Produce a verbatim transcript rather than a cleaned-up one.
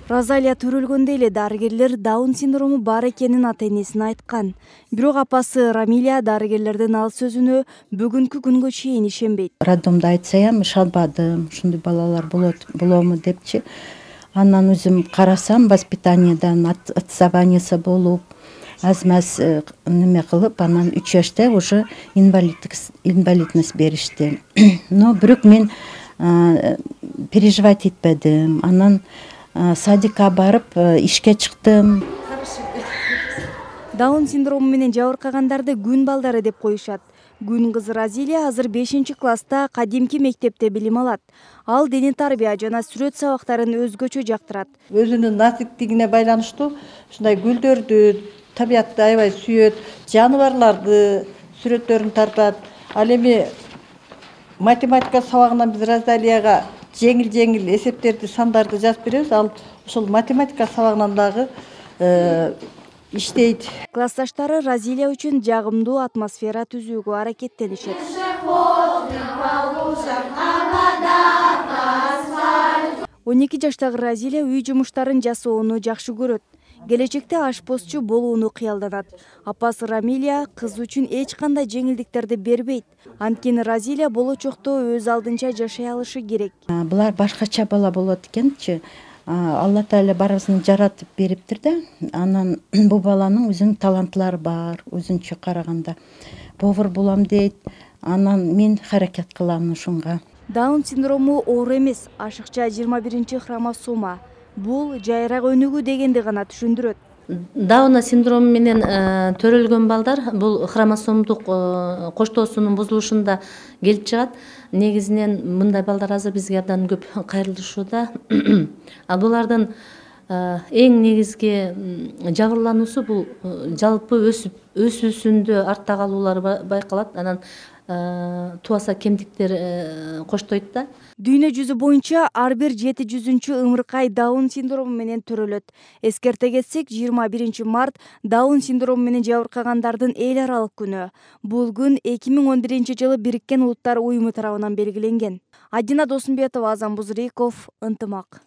Розалия төрөлгөндө эле дарыгерлер Даун синдрому бар экенин ата энесине айткан. Бирок апасы Рамилия дарыгерлердин ал сөзүнө бүгүнкү күнгө чейин ишенбейт. Роддомдо айтсаям ишенбадым, ушундай балалар болот болобу депчи. Андан өзүм карасам, воспитаниядан отставаниясы болуп, аз-маз неме кылып, анан үч жашта уже инвалидность беришти. Но бирок мен переживать этпедим. Анан садикка барып ишке чыктым. Даун синдрому менен жабыркагандарды күн балдары деп коюшат. Күн кызы Розалия азыр бешинчи класста кадимки мектепте билим алат. Ал дене тарбия жана сүрөт сабактарын өзгөчө жактырат. Өзүнүн насиптигине байланыштуу ушундай гүлдөрдү, табиятты аябай сүйөт, жаныбарларды сүрөттөрүн тартат. Ал эми математика сабагынан биз Розалияга жеңил-жеңил эсептерди, сандарды жазып беребиз. Ал ошол математика сабагынан дагы иштейт. Классташтары Розалия үчүн жагымдуу атмосфера түзүүгө аракеттенишет. он эки жаштагы Розалия үй жумуштарын жасоону жакшы көрөт. Келечекте ашпозчу болууну кыялданат. Апасы Рамилия кыз үчүн эч кандай жеңилдиктерди бербейт. Анткени Розалия болочокто өз алдынча жашай алышы керек. Булар башкача бала болот экенчи. Алла Таала баарыбызды жаратып бериптир да. Анан бул баланын өзүнүн талантлары бар, өзүнчө караганда. Повар болом дейт. Анан мен харакет кылам ушунга. Даун синдрому оору эмес, ашыкча жыйырма биринчи хромосома. Бул жайрак өнүгүү дегенди гана түшүндүрөт. Даун синдрому менен төрөлгөн балдар бул хромосомдук коштоосунун бузулушунда келип чыгат. Негизинен мындай балдар азыр бизге абдан көп кайрылышууда. А булардын эң негизги жабырлануусу бул жалпы өсүп өсүүсүндө артта калуулары байкалат. Анан туаса кемдиктер коштойт да. Дүйнө жүзү боюнча ар бир жети жүзүнчү ымыркай Даун синдрому менен төрөлөт. Эскерте кетсек, жыйырма биринчи март Даун синдрому менен жабыркагандардын эл аралык күнү. Бул күн эки миң он биринчи жылы Бириккен Улуттар уюму тарабынан белгиленген. Адина Досумбетова, Азан Бузриков, Ынтымак.